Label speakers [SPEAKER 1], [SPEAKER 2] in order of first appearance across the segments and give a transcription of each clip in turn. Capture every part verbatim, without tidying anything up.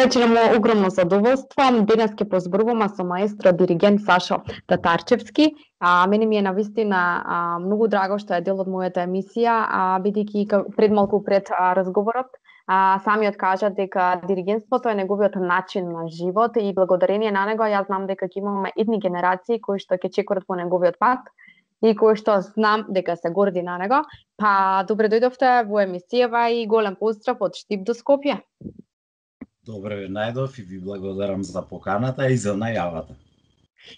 [SPEAKER 1] вече имamo огромно задоволство. Денес ќе позборуваме со маестро диригент Сашо Татарчевски. А мене ми е навистина а, многу драго што е дел од мојата емисија, а бидејќи пред малку пред а, разговорот а, самиот кажа дека диригентството е неговиот начин на живот и благодарение на него јас знам дека ќе имаме идни генерации кои што ќе чекорат по неговиот пат и кои што знам дека се горди на него. Па добре дојдовте во емисијава и голем поздрав од Штип до Скопје.
[SPEAKER 2] Добре ве најдов и ви благодарам за поканата и за најавата.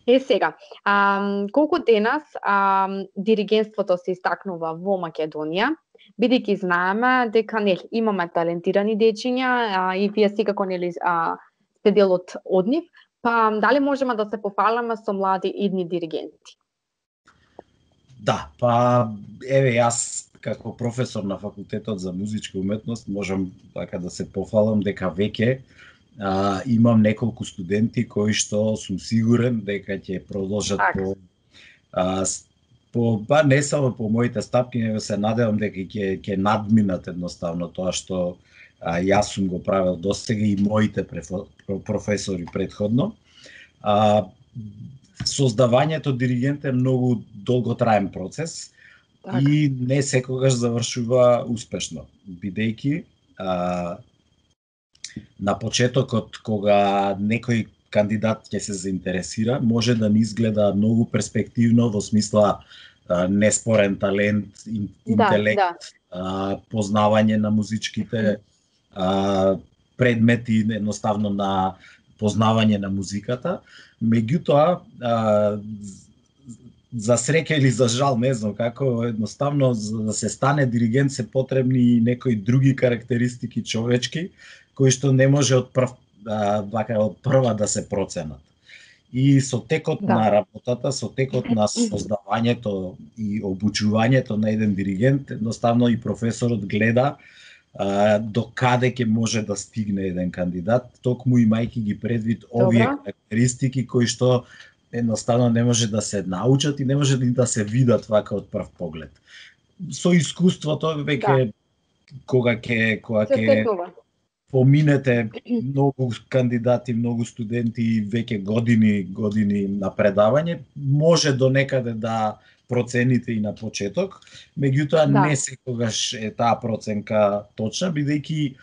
[SPEAKER 1] Е сега, а, колку денес а, диригентството се истакнува во Македонија, бидејќи знаеме дека нели имаме талентирани дечиња а, и вие секако нели а, сте дел од од нив, па дали можеме да се пофаламе со млади идни диригенти?
[SPEAKER 2] Да, па еве јас како професор на факултетот за музичка уметност можам така да се пофалам дека веќе а, имам неколку студенти кои што сум сигурен дека ќе продолжат так. по а, по па не само по моите стапки, него се надевам дека ќе ќе надминат едноставно тоа што а, јас сум го правел досега и моите професори претходно. А, создавањето диригент е многу долготраен процес. Так. И не секогаш завршува успешно, бидејќи а, на почетокот кога некој кандидат ќе се заинтересира, може да не изгледа многу перспективно во смисла а, неспорен талент, ин, интелект, да, да. А, познавање на музичките а, предмети, едноставно на познавање на музиката. Меѓутоа, а, за среќа или за жал, не знам како, едноставно за да се стане диригент се потребни и некои други карактеристики човечки кои што не може од прв вака од прва да се проценат. И со текот да. на работата, со текот на создавањето и обучувањето на еден диригент, едноставно и професорот гледа а, до каде ќе може да стигне еден кандидат, токму имајќи ги предвид овие Добра. карактеристики кои што едноставно не може да се научат и не може да се видат вака од прв поглед. Со искуството веќе да. кога ќе кога ќе поминете многу кандидати, многу студенти, веќе години години на предавање, може до некаде да процените и на почеток, меѓутоа да. не секогаш е таа проценка точна, бидејќи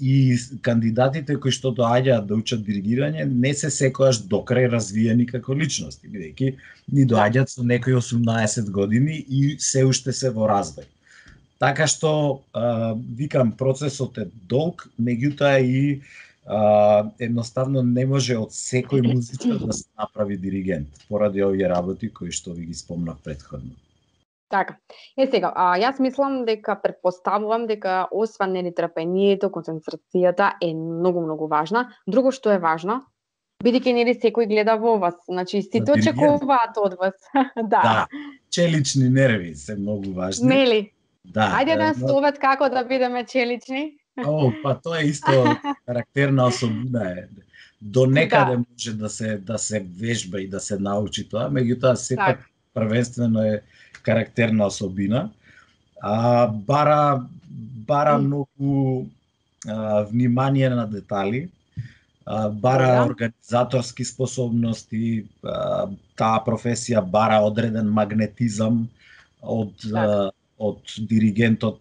[SPEAKER 2] и кандидатите кои што доаѓаат да учат диригирање не се секогаш докрај развиени како личности, бидејќи ни доаѓаат со некои осумнаесет години и се уште се во развој. Така што, а, викам, процесот е долг, меѓутоа и а, едноставно не може од секој музичар да се направи диригент, поради овие работи кои што ви ги спомнав претходно.
[SPEAKER 1] Така. Е сега, а, јас мислам дека претпоставувам дека освен нели трпението, концентрацијата е многу многу важна. Друго што е важно, бидејќи нели секој гледа во вас, значи сите очекуваат од вас. да.
[SPEAKER 2] Да. Челични нерви се многу важни.
[SPEAKER 1] Нели?
[SPEAKER 2] Да.
[SPEAKER 1] Ајде да совет како да бидеме челични.
[SPEAKER 2] О, па тоа е исто карактерна особина е. До некаде да. може да се да се вежба и да се научи тоа, меѓутоа сепак првенствено е карактерна особина. А, бара бара многу а, внимание на детали, а, бара да. организаторски способности, а, таа професија бара одреден магнетизам од да. од диригентот,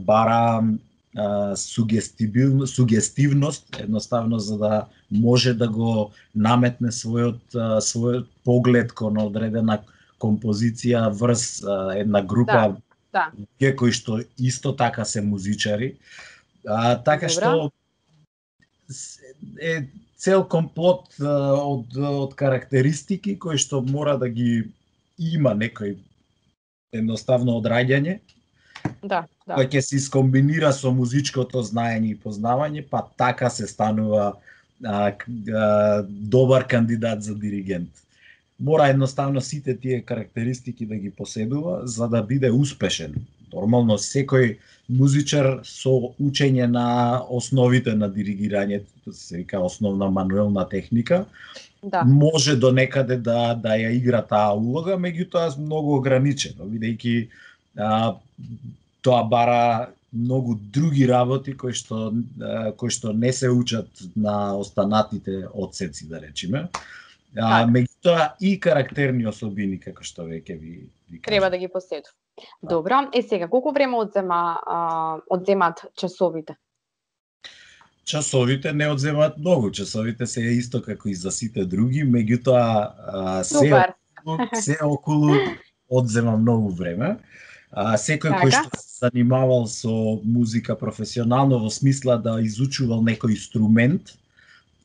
[SPEAKER 2] бара а, сугестивност, сугестивност, едноставно за да може да го наметне својот а, својот поглед кон одредена композиција врз а, една група
[SPEAKER 1] да,
[SPEAKER 2] да. кои што исто така се музичари. А, така Добра. што е цел комплот а, од од карактеристики кои што мора да ги има некој едноставно одраѓање.
[SPEAKER 1] Да, да.
[SPEAKER 2] Кој ќе се искомбинира со музичкото знаење и познавање, па така се станува а, а, добар кандидат за диригент. Мора едноставно сите тие карактеристики да ги поседува за да биде успешен. Нормално секој музичар со учење на основите на диригирањето, се вика основна мануелна техника, да. може до некаде да да ја игра таа улога, меѓутоа многу ограничено, бидејќи а, тоа бара многу други работи кои што кои што не се учат на останатите одсеци, да речеме. А, меѓутоа и карактерни особини, како што веќе ви, ви кажа.
[SPEAKER 1] Треба да ги поседу. Добро, е сега, колку време одзема, а, одземат часовите?
[SPEAKER 2] Часовите не одземаат многу, часовите се исто како и за сите други, меѓутоа се
[SPEAKER 1] Супер.
[SPEAKER 2] околу, се околу одзема многу време. А, секој
[SPEAKER 1] така?
[SPEAKER 2] кој што се занимавал со музика професионално во смисла да изучувал некој инструмент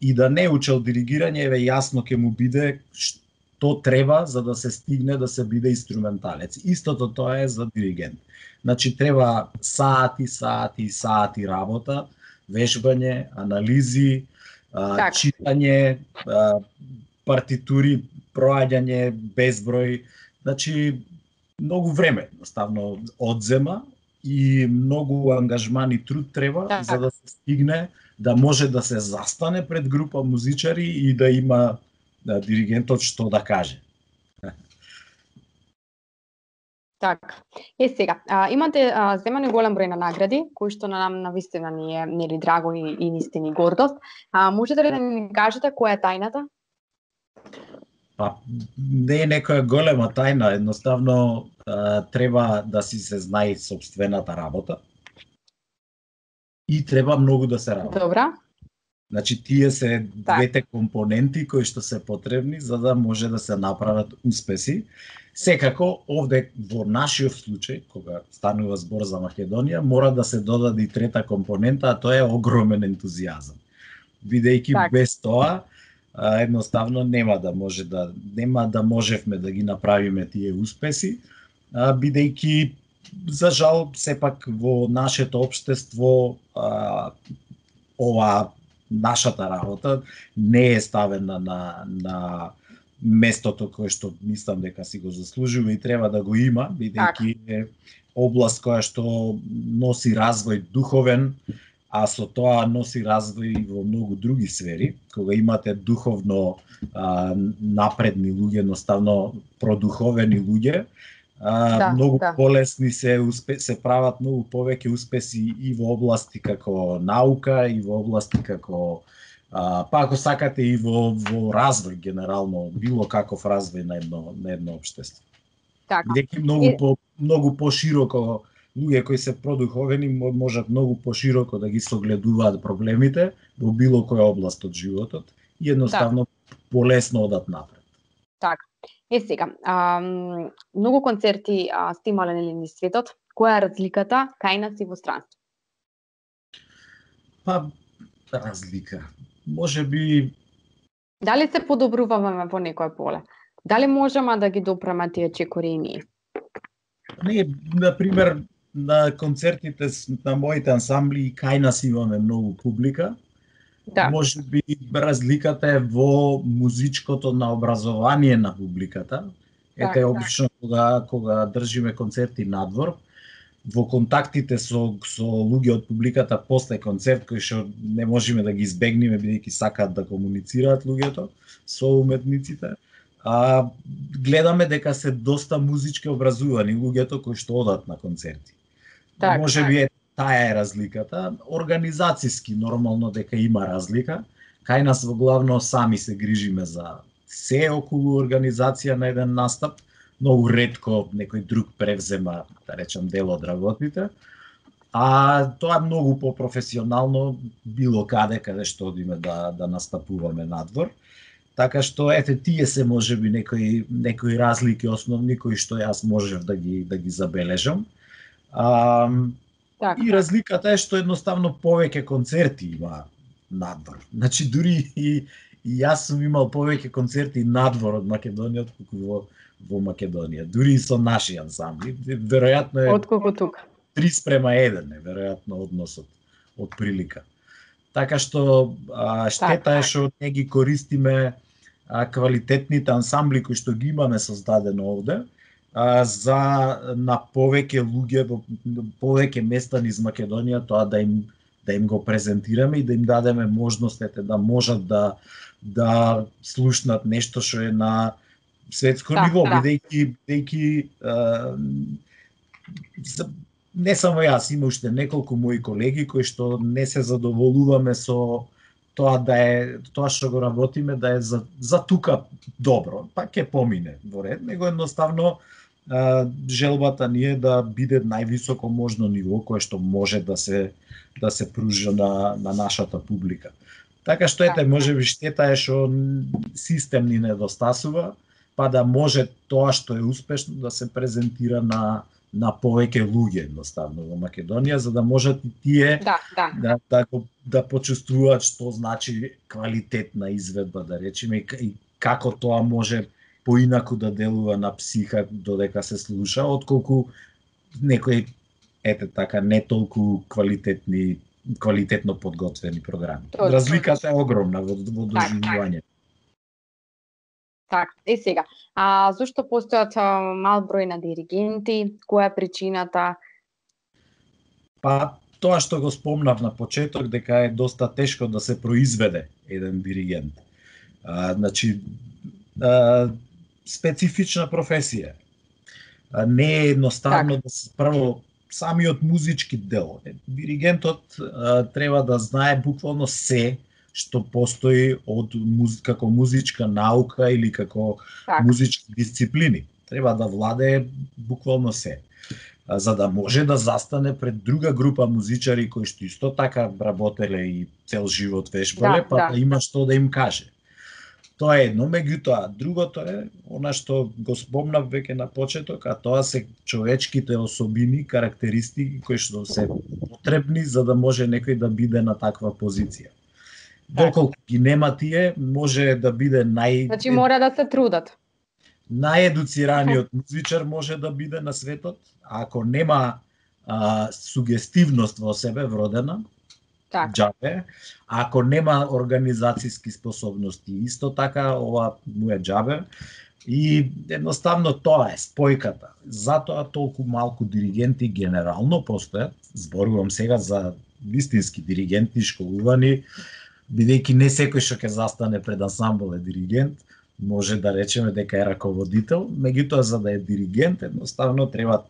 [SPEAKER 2] и да не учел диригирање, еве јасно ќе му биде што треба за да се стигне да се биде инструменталец. Истото тоа е за диригент. Значи треба сати, сати, сати работа, вежбање, анализи, а, читање, а, партитури, проаѓање, безброј. Значи многу време едноставно одзема и многу ангажман и труд треба так. за да се стигне да може да се застане пред група музичари и да има да, диригентот што да каже.
[SPEAKER 1] Така. Е сега, а, имате а, земани голем број на награди, кои што на нам навистина ни е нели драго и, и нисти ни гордост. А можете ли да ни кажете која е тајната?
[SPEAKER 2] Па не е некоја голема тајна, едноставно а, треба да си се знае собствената работа и треба многу да се работи.
[SPEAKER 1] Добра.
[SPEAKER 2] Значи тие се двете компоненти кои што се потребни за да може да се направат успеси. Секако овде во нашиот случај, кога станува збор за Македонија, мора да се додаде и трета компонента, а тоа е огромен ентузијазам. Бидејќи так. без тоа едноставно нема да може да нема да можевме да ги направиме тие успеси, бидејќи за жал сепак во нашето општество а, ова нашата работа не е ставена на на местото кое што мислам дека си го заслужува и треба да го има, бидејќи е област која што носи развој духовен, а со тоа носи развој и во многу други сфери. Кога имате духовно а, напредни луѓе, едноставно продуховени луѓе, а, да, многу да. полесни се успе, се прават многу повеќе успеси и во области како наука, и во области како а, па ако сакате и во во развој генерално, било каков развој на едно на едно општество. Така. Бидејќи многу и... по многу пошироко луѓе кои се продуховени можат многу пошироко да ги согледуваат проблемите во било која област од животот и едноставно да. полесно одат напред.
[SPEAKER 1] Така. Е сега, а, многу концерти а, сте имале нели низ светот. Која е разликата кај нас и во странство?
[SPEAKER 2] Па разлика. Може би
[SPEAKER 1] дали се подобруваме во некој поле? Дали можеме да ги допреме тие чекори и ние?
[SPEAKER 2] Не, на пример, на концертите на моите ансамбли и кај нас имаме многу публика. Да. Може би разликата е во музичкото наобразование на публиката. Ете, да, обично да. кога кога држиме концерти надвор, во контактите со со луѓе од публиката после концерт кои што не можеме да ги избегнеме бидејќи сакаат да комуницираат луѓето со уметниците. А, гледаме дека се доста музички образувани луѓето кои што одат на концерти. Так, може би е таа е разликата. Организацијски нормално дека има разлика. Кај нас во главно сами се грижиме за се околу организација на еден настап. Многу ретко некој друг превзема, да речам, дел од работите. А тоа е многу попрофесионално било каде каде што одиме да да настапуваме надвор. Така што ете тие се можеби некои некои разлики основни кои што јас можев да ги да ги забележам. А, так, и разликата е што едноставно повеќе концерти има надвор. Значи дури и, и јас сум имал повеќе концерти надвор од Македонија отколку во во Македонија, дури и со наши ансамбли. Веројатно е
[SPEAKER 1] отколку тука.
[SPEAKER 2] три спрема еден е веројатно односот од прилика. Така што а, штета так, е што не ги користиме а, квалитетните ансамбли кои што ги имаме создадено овде, а, за на повеќе луѓе во повеќе места низ Македонија тоа да им да им го презентираме и да им дадеме можностите да можат да да слушнат нешто што е на светско да, ниво, да. бидејќи бидејќи не само јас, има уште неколку мои колеги кои што не се задоволуваме со тоа да е тоа што го работиме да е за, за тука добро, па ќе помине во ред, него едноставно а, желбата ни е да биде највисоко можно ниво кое што може да се да се пружи на на нашата публика. Така што ете, можеби штета е што систем ни недостасува, па да може тоа што е успешно да се презентира на на повеќе луѓе едноставно во Македонија, за да можат и тие
[SPEAKER 1] да, да.
[SPEAKER 2] да, да, да почувствуваат што значи квалитетна изведба, да речеме, и како тоа може поинаку да делува на психа додека се слуша, отколку некои ете така не толку квалитетни квалитетно подготвени програми.
[SPEAKER 1] Точно.
[SPEAKER 2] Разликата е огромна во, во доживување.
[SPEAKER 1] Така, е сега, а зошто постојат мал број на диригенти? Која е причината?
[SPEAKER 2] Па, тоа што го спомнав на почеток, дека е доста тешко да се произведе еден диригент. А, значи, а, специфична професија. А, не е едноставно так. Да се прво самиот музички дел. Диригентот а, треба да знае буквално се што постои од муз... како музичка наука или како так. Музички дисциплини. Треба да владее буквално се. А, за да може да застане пред друга група музичари кои што исто така работеле и цел живот вешбале, да, па да. Да има што да им каже. Тоа е едно, меѓутоа, другото е она што го спомнав веќе на почеток, а тоа се човечките особини, карактеристики кои што се потребни за да може некој да биде на таква позиција. Доколку ги нема тие, може да биде нај...
[SPEAKER 1] Значи мора да се трудат.
[SPEAKER 2] Наједуцираниот музичар може да биде на светот, а ако нема а, сугестивност во себе вродена, так. Джабе, ако нема организацијски способности, исто така ова му е джабе. И едноставно тоа е спојката. Затоа толку малку диригенти генерално постојат. Зборувам сега за вистински диригенти школувани, бидејќи не секој што ќе застане пред ансамбл е диригент, може да речеме дека е раководител, меѓутоа за да е диригент едноставно треба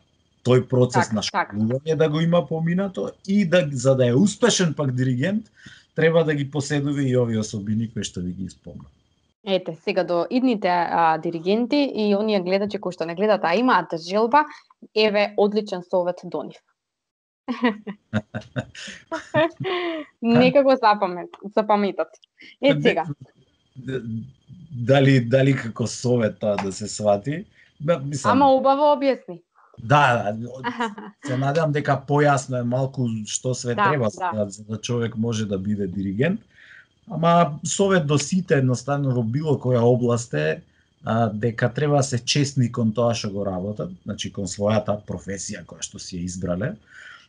[SPEAKER 2] тој процес так, на школување так. Да го има поминато и да за да е успешен пак диригент, треба да ги поседува и овие особини кои што ви ги спомнав.
[SPEAKER 1] Ете, сега до идните а, диригенти и оние гледачи кои што не гледат, а имаат желба, еве одличен совет до нив. Нека го запамет, запаметат. Е сега.
[SPEAKER 2] Дали дали како совет тоа да се свати?
[SPEAKER 1] Мислам... Ама убаво објасни.
[SPEAKER 2] Да, се надевам дека појасно е малку што све да, треба да. За да човек може да биде диригент. Ама совет до сите едноставно во било која област е а, дека треба да се честни кон тоа што го работат, значи кон својата професија која што си ја избрале.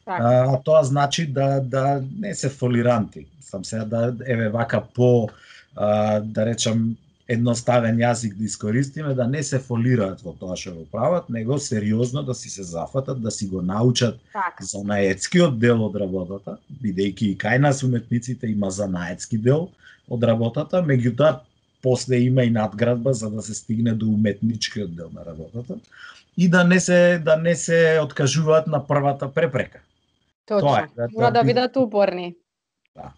[SPEAKER 2] А, тоа значи да да не се фолиранти. Сам сега да еве вака по а, да речам едноставен јазик да искористиме, да не се фолираат во тоа што го прават, него сериозно да си се зафатат, да си го научат так. Занаетскиот дел од работата, бидејќи и кај нас уметниците има занаетски дел од работата, меѓутоа после има и надградба за да се стигне до уметничкиот дел на работата и да не се да не се откажуваат на првата препрека.
[SPEAKER 1] Точно. Тоа е, да, мора да бидат упорни. Да.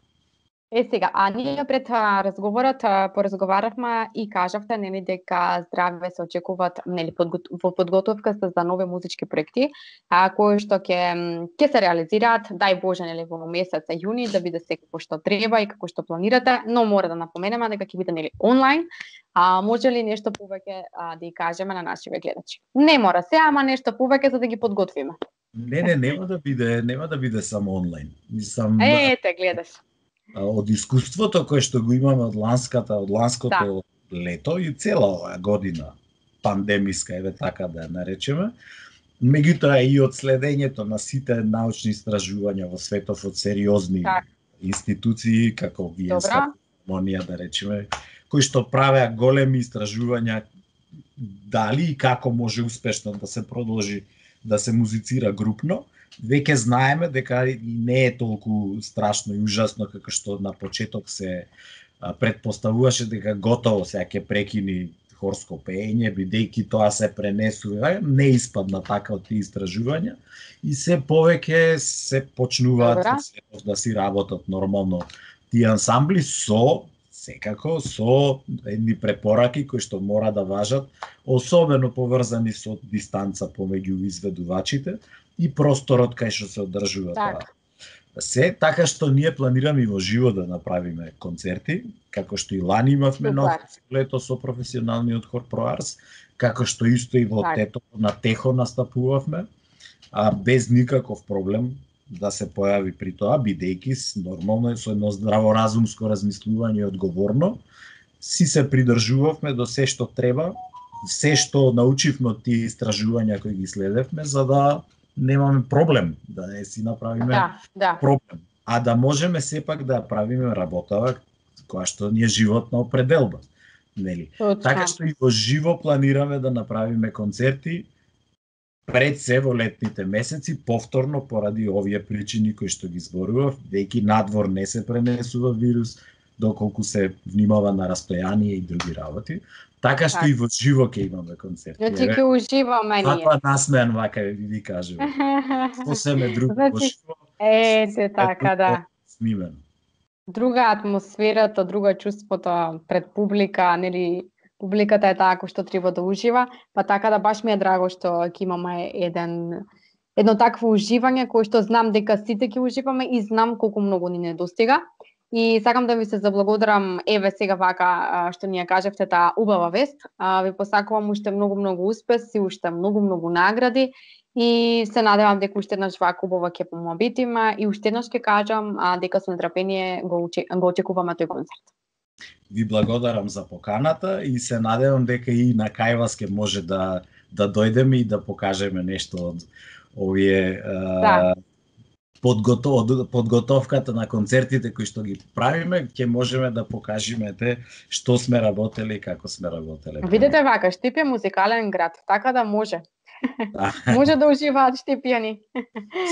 [SPEAKER 1] Е сега, а ние пред а, разговорот а, поразговаравме и кажавте нели дека здраве се очекуваат нели подгот... во подготовка за нови музички проекти, а кои што ќе ќе се реализираат, дај Боже нели во месец јуни да биде се како што треба и како што планирате, но мора да напоменеме дека ќе биде нели онлайн. А може ли нешто повеќе а, да ја кажеме на нашите гледачи? Не мора се, ама нешто повеќе за да ги подготвиме.
[SPEAKER 2] Не, не, нема да биде, нема да биде само онлайн. Мислам,
[SPEAKER 1] е, ете, гледаш.
[SPEAKER 2] Од искуството кое што го имаме од ланската, од ланското да. Лето и цела оваа година пандемиска, еве така да ја наречеме, меѓутоа и од следењето на сите научни истражувања во светов од сериозни так. Институции како Виенска филармонија да речеме, кои што правеа големи истражувања дали и како може успешно да се продолжи да се музицира групно. Веќе знаеме дека не е толку страшно и ужасно како што на почеток се предпоставуваше дека готово сега ќе прекини хорско пеење, бидејќи тоа се пренесува, не испадна така од тие истражувања и се повеќе се почнуваат да си работат нормално тие ансамбли со секако со едни препораки кои што мора да важат, особено поврзани со дистанца помеѓу изведувачите и просторот кај што се одржува
[SPEAKER 1] така.
[SPEAKER 2] Тоа. Се така што ние планираме и во живо да направиме концерти, како што и лани имавме нов лето со професионалниот хор Проарс, како што исто и во
[SPEAKER 1] так.
[SPEAKER 2] Тето на Техо настапувавме, а без никаков проблем да се појави при тоа, бидејќи нормално со едно здраворазумско размислување и одговорно си се придржувавме до се што треба, се што научивме од тие истражувања кои ги следевме, за да немаме проблем, да не си направиме
[SPEAKER 1] да, да.
[SPEAKER 2] проблем, а да можеме сепак да правиме работава која што ни е животна определба, нели? Така што и во живо планираме да направиме концерти пред се во летните месеци, повторно поради овие причини кои што ги зборував, веќе надвор не се пренесува вирус, доколку се внимава на растојание и други работи. Така што так. И во живо ќе имаме концерти.
[SPEAKER 1] Значи ќе уживаме ние.
[SPEAKER 2] Папа насмеан вака ви кажем. Посеме друго
[SPEAKER 1] значи,
[SPEAKER 2] во живо.
[SPEAKER 1] Ете така, да.
[SPEAKER 2] Снимено.
[SPEAKER 1] Друга атмосферата, друга чувството пред публика, нели публиката е таа кој што треба да ужива, па така да баш ми е драго што ќе имаме еден едно такво уживање кој што знам дека сите ќе уживаме и знам колку многу ни недостига. И сакам да ви се заблагодарам, еве сега вака што ни ја кажавте таа убава вест. Ви посакувам уште многу многу успеси, уште многу многу награди и се надевам дека уште еднаш вака убава ќе помобитиме и уште еднаш ќе кажам дека со нетрпение го го очекуваме тој концерт.
[SPEAKER 2] Ви благодарам за поканата и се надевам дека и на кај вас ќе може да да дојдеме и да покажеме нешто од овие да. подготов, подготовката на концертите кои што ги правиме, ќе можеме да покажеме те што сме работеле и како сме работеле.
[SPEAKER 1] Видете вака, Штип е музикален град, така да може. Да. Може да уживаат штипјани.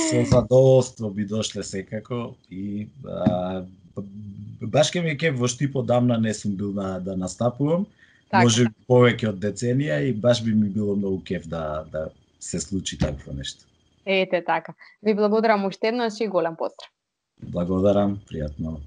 [SPEAKER 2] Со задоволство би дошле секако и а, баш ке ми ке во Штип одамна не сум бил на, да настапувам. Так, може би повеќе од деценија и баш би ми било многу кеф да, да се случи такво нешто.
[SPEAKER 1] Ете така. Ви благодарам уште еднаш и голем поздрав.
[SPEAKER 2] Благодарам, пријатно.